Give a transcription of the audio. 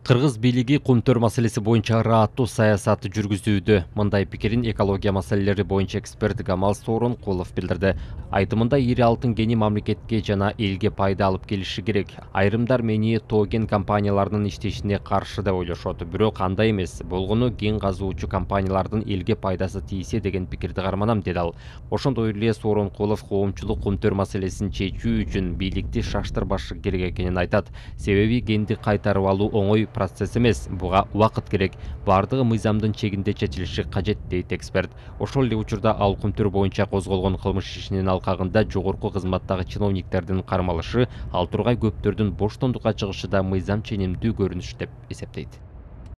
Кыргыз бийлиги кумтөр маселеси боюнча ырааттуу саясат жүргүзүүдө. Мындай пикирин экология маселелери боюнча эксперт Гамал Сооронкулов билдирди. Айтымында ири алтын кени мамлекетке жана элге пайда алып келиши керек. Айрымдар мени тоо кен компанияларынын иштешине каршы деп ойлошот. Бирок андай эмес. Болгону кен казуучу компаниялардын элге пайдасы тийсе деген пикирди карманам, деди ал. Ошондой эле Сооронкулов коомчулук кумтөр маселесин чечүү үчүн бийликти шаштырбашы керек экенин айтат. Себеби кенди кайтарып алуу оңой процесс эмес, буга убакыт керек. Бардыгы мыйзамдын чегинде чечилиши кажет, дейт эксперт. Ошол эле учурда ал кумтөр боюнча козголгон кылмыш ишинин алкагында жогорку кызматтагы чиновниктердин кармалышы, ал тургай көптөрдүн боштондукка чыгышы да мыйзам ченемдүү көрүнүш деп эсептейт.